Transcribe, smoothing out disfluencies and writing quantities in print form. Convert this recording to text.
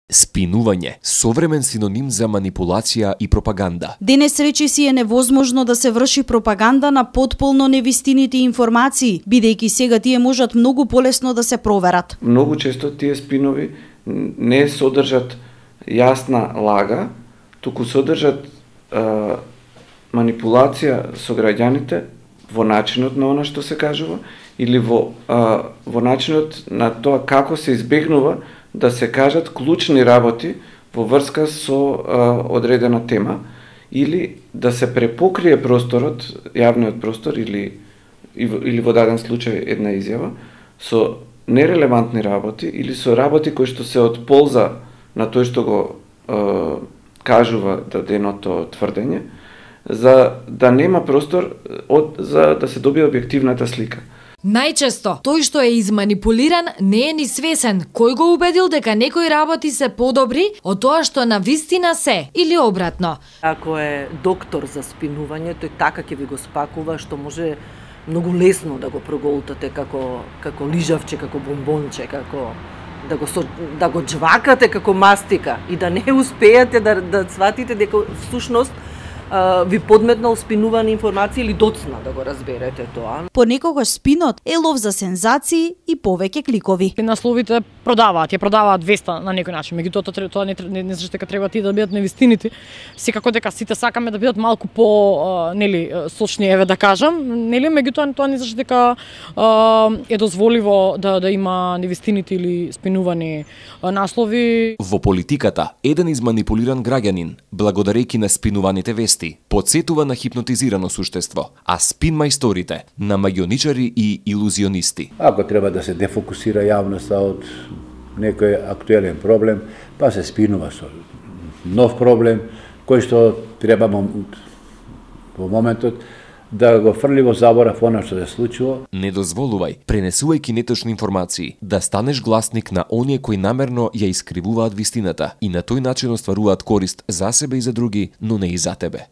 Спинување, современ синоним за манипулација и пропаганда. Денес речиси е невозможно да се врши пропаганда на потполно невистините информации, бидејќи сега тие можат многу полесно да се проверат. Многу често тие спинови не содржат јасна лага, туку содржат манипулација со граѓаните во начинот на она што се кажува или во начинот на тоа како се избегнува да се кажат клучни работи во врска со одредена тема или да се препокрие просторот, јавниот простор или во даден случај една изјава со нерелевантни работи или со работи кои што се од полза на тој што го кажува даденото тврдење, за да нема простор за да се добие објективната слика. Најчесто, тој што е изманипулиран не е ни свесен кој го убедил дека некои работи се подобри од тоа што на вистина се, или обратно. Ако е доктор за спинување, тој така ќе ви го спакува што може многу лесно да го проголтате како лижавче, како бомбонче, како да го джвакате како мастика и да не успеете да сватите дека всушност ви подметнал спинувани информации или доцна да го разберете тоа. Понекогаш спинот е лов за сензации и повеќе кликови. Насловите продаваат 200 на некој начин, меѓутоа тоа не значи дека треба тие да бидат невистините. Секако дека сите сакаме да бидат малку по сочни, еве да кажам, меѓутоа тоа не значи дека е дозволиво да има невистините или спинувани наслови. Во политиката, еден изманипулиран граѓанин, благодарејќи на спинуваните вести, подсетува на хипнотизирано суштество, а спин мајсторите на маѓионичари и илузионисти. Ако треба да се дефокусира јавноста од некој актуелен проблем, па се спинува со нов проблем, кој што треба во моментот да го фрли во заборав она што се случува. Не дозволувај, пренесувајќи неточни информации, да станеш гласник на оние кои намерно ја искривуваат вистината и на тој начин остваруваат корист за себе и за други, но не и за тебе.